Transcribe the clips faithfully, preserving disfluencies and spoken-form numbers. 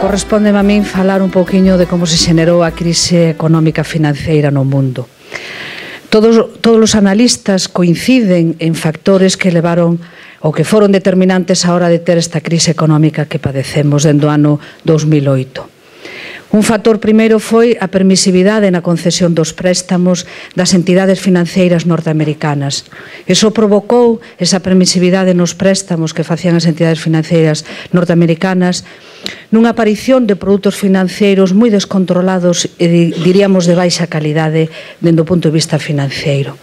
correspóndeme a min falar un pouquiño de como se xenerou a crise económica financeira no mundo. Todos, todos os analistas coinciden en factores que levaron ou que foron determinantes á hora de ter esta crise económica que padecemos dende o ano dos mil oito. Un factor primeiro foi a permisividade na concesión dos préstamos das entidades financeiras norteamericanas. Iso provocou esa permisividade nos préstamos que facían as entidades financeiras norteamericanas nunha aparición de produtos financeiros moi descontrolados e, diríamos, de baixa calidade dende o punto de vista financeiro.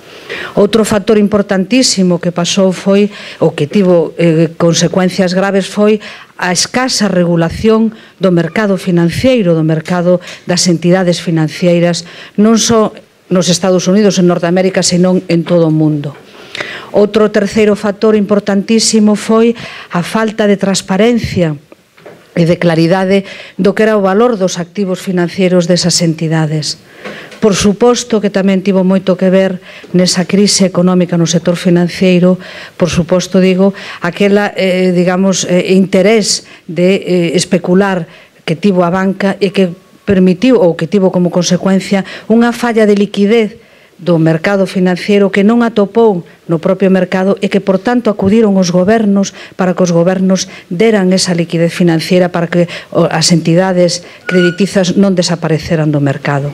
Outro factor importantísimo que pasou foi, ou que tivo eh, consecuencias graves, foi a escasa regulación do mercado financeiro, do mercado das entidades financeiras, non só nos Estados Unidos, en Norteamérica, senón en todo o mundo. Outro terceiro factor importantísimo foi a falta de transparencia e de claridade do que era o valor dos activos financeiros desas entidades. Por suposto que tamén tivo moito que ver nesa crise económica no sector financeiro, por suposto, digo, aquela, eh, digamos, eh, interés de eh, especular que tivo a banca e que permitiu, ou que tivo como consecuencia, unha falla de liquidez do mercado financiero que non atopou no propio mercado e que, por tanto, acudiron os gobernos para que os gobernos deran esa liquidez financiera para que as entidades creditizas non desapareceran do mercado.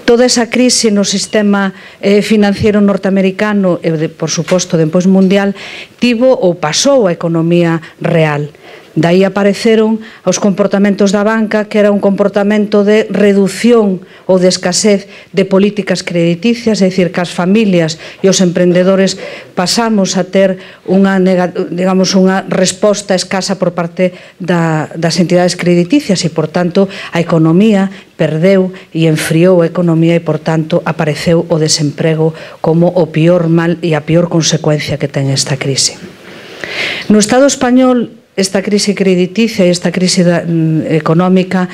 Toda esa crise no sistema eh, financiero norteamericano e, de, por suposto, despois mundial, tivo ou pasou a economía real. Daí apareceron os comportamentos da banca, que era un comportamento de reducción ou de escasez de políticas crediticias, é dicir, que as familias e os emprendedores pasamos a ter unha, digamos, unha resposta escasa por parte da, das entidades crediticias e, por tanto, a economía perdeu e enfriou a economía e, por tanto, apareceu o desemprego como o pior mal e a pior consecuencia que ten esta crise. No Estado español, esta crise crediticia e esta crise da, económica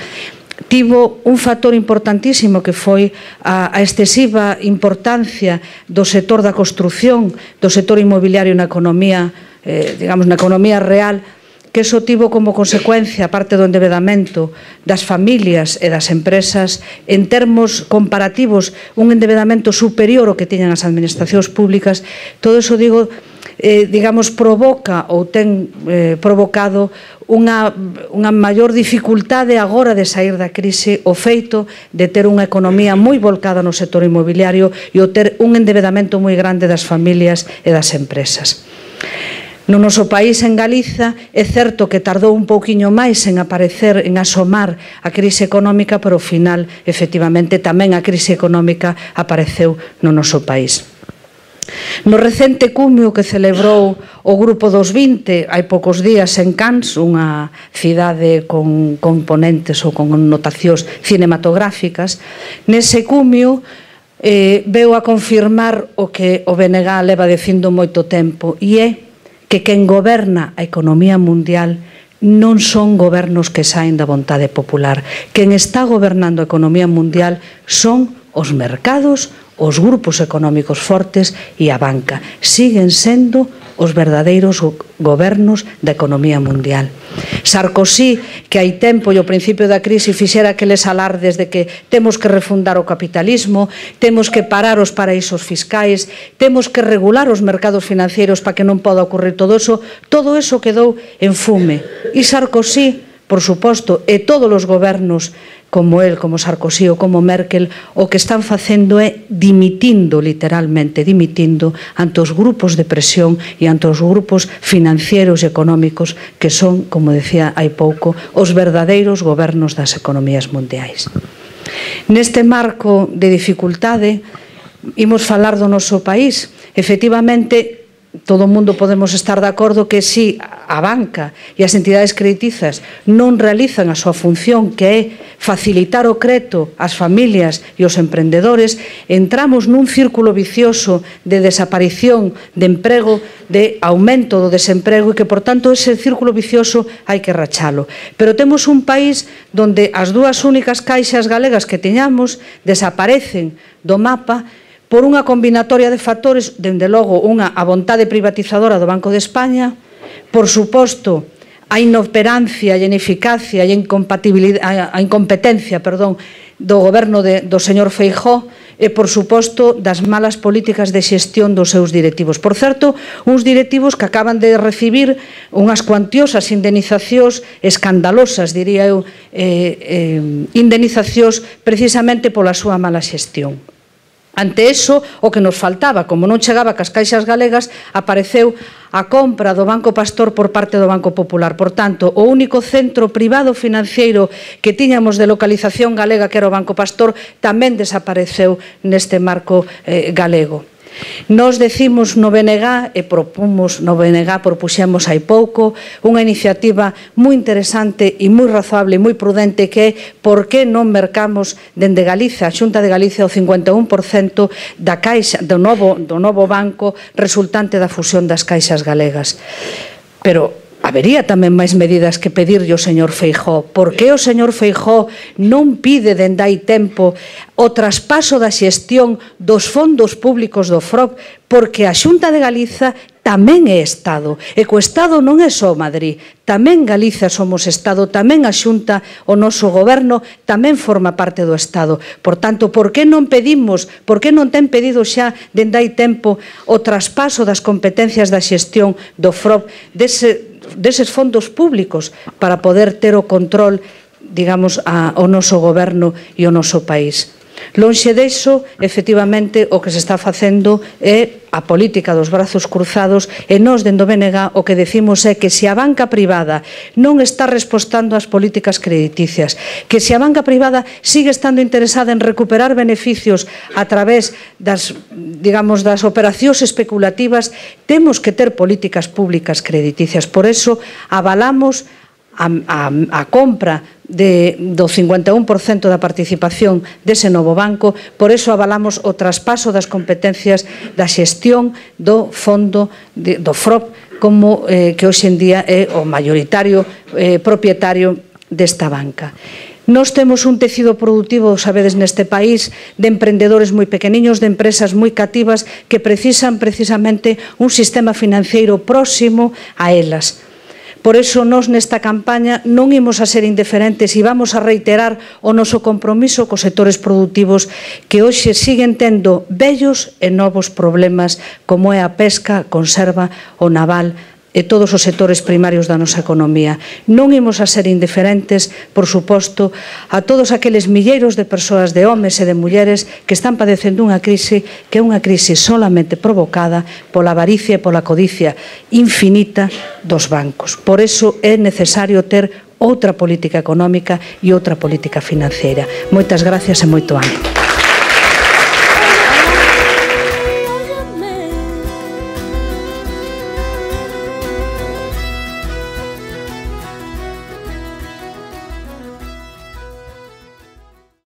tivo un factor importantísimo que foi a, a excesiva importancia do sector da construción, do sector inmobiliario na economía, eh, digamos, na economía real, que iso tivo como consecuencia, aparte do endevedamento das familias e das empresas, en termos comparativos, un endevedamento superior ao que tiñan as administracións públicas. Todo iso, digo, Eh, digamos, provoca ou ten eh, provocado unha, unha maior dificultade agora de sair da crise, o feito de ter unha economía moi volcada no sector inmobiliario e o ter un endevedamento moi grande das familias e das empresas. No noso país, en Galiza, é certo que tardou un pouquiño máis en aparecer, en asomar a crise económica, pero ao final, efectivamente, tamén a crise económica apareceu no noso país. No recente cumio que celebrou o Grupo dos vinte hai poucos días en Cannes, unha cidade con componentes ou con connotacións cinematográficas, nese cumio eh, veu a confirmar o que o B N G leva dicindo moito tempo, e é que quen goberna a economía mundial non son gobernos que saen da vontade popular. Quen está gobernando a economía mundial son os mercados, os grupos económicos fortes e a banca. Siguen sendo os verdadeiros gobernos da economía mundial. Sarkozy, que hai tempo e ao principio da crise fixera aqueles alardes de que temos que refundar o capitalismo, temos que parar os paraísos fiscais, temos que regular os mercados financeiros para que non poda ocurrir todo eso, todo eso quedou en fume. E Sarkozy, por suposto, e todos os gobernos como el, como Sarkozy ou como Merkel, o que están facendo é dimitindo, literalmente dimitindo, ante os grupos de presión e ante os grupos financieros e económicos que son, como decía hai pouco, os verdadeiros gobernos das economías mundiais. Neste marco de dificultade, imos falar do noso país. Efectivamente, todo o mundo podemos estar de acordo que si a banca e as entidades creditizas non realizan a súa función, que é facilitar o crédito ás familias e aos emprendedores, entramos nun círculo vicioso de desaparición de emprego, de aumento do desemprego, e que, por tanto, ese círculo vicioso hai que rachalo. Pero temos un país onde as dúas únicas caixas galegas que teñamos desaparecen do mapa por unha combinatoria de factores, dende logo unha a vontade privatizadora do Banco de España, por suposto a inoperancia e a ineficacia e a incompatibilidade, a incompetencia, perdón, do goberno de, do señor Feijóo e, por suposto, das malas políticas de xestión dos seus directivos. Por certo, uns directivos que acaban de recibir unhas cuantiosas indemnizacións escandalosas, diría eu, eh, eh, indemnizacións precisamente pola súa mala xestión. Ante eso, o que nos faltaba, como non chegaba cas caixas galegas, apareceu a compra do Banco Pastor por parte do Banco Popular. Por tanto, o único centro privado financiero que tiñamos de localización galega, que era o Banco Pastor, tamén desapareceu neste marco eh, galego. Nos decimos no B N G e propomos no B N G, propuxemos hai pouco unha iniciativa moi interesante e moi razoable e moi prudente, que é por que non mercamos dende Galiza, a Xunta de Galicia, o cincuenta e un por cento da caixa do novo, do novo banco resultante da fusión das caixas galegas. Pero habería tamén máis medidas que pedirlle ao señor Feijóo. Por que o señor Feijóo non pide dende hai tempo o traspaso da xestión dos fondos públicos do F R O C? Porque a Xunta de Galiza tamén é Estado, e co Estado non é só Madrid, tamén Galiza somos Estado, tamén a Xunta, o noso goberno, tamén forma parte do Estado. Por tanto, por que non pedimos, por que non ten pedido xa dende hai tempo o traspaso das competencias da xestión do F R O C, dese deses fondos públicos, para poder ter o control, digamos, ao noso goberno e ao noso país? Lonxe deso, efectivamente, o que se está facendo é a política dos brazos cruzados, e nós, dende o B N G, o que decimos é que se a banca privada non está respostando ás políticas crediticias, que se a banca privada sigue estando interesada en recuperar beneficios a través das, digamos, das operacións especulativas, temos que ter políticas públicas crediticias. Por eso, avalamos a, a, a compra de, do cincuenta e un por cento da participación dese novo banco. Por eso avalamos o traspaso das competencias da xestión do fondo de, do F R O C, como eh, que hoxe en día é o maioritario eh, propietario desta banca. Nós temos un tecido productivo, sabedes, neste país, de emprendedores moi pequeniños, de empresas moi cativas, que precisan precisamente un sistema financeiro próximo a elas. Por iso, nós nesta campaña non imos a ser indiferentes e vamos a reiterar o noso compromiso cos sectores productivos que hoxe siguen tendo vellos e novos problemas, como é a pesca, a conserva, o naval e todos os sectores primarios da nosa economía. Non imos a ser indiferentes, por suposto, a todos aqueles milleiros de persoas, de homes e de mulleres, que están padecendo unha crise que é unha crise solamente provocada pola avaricia e pola codicia infinita dos bancos. Por iso é necesario ter outra política económica e outra política financeira. Moitas gracias e moito ánimo.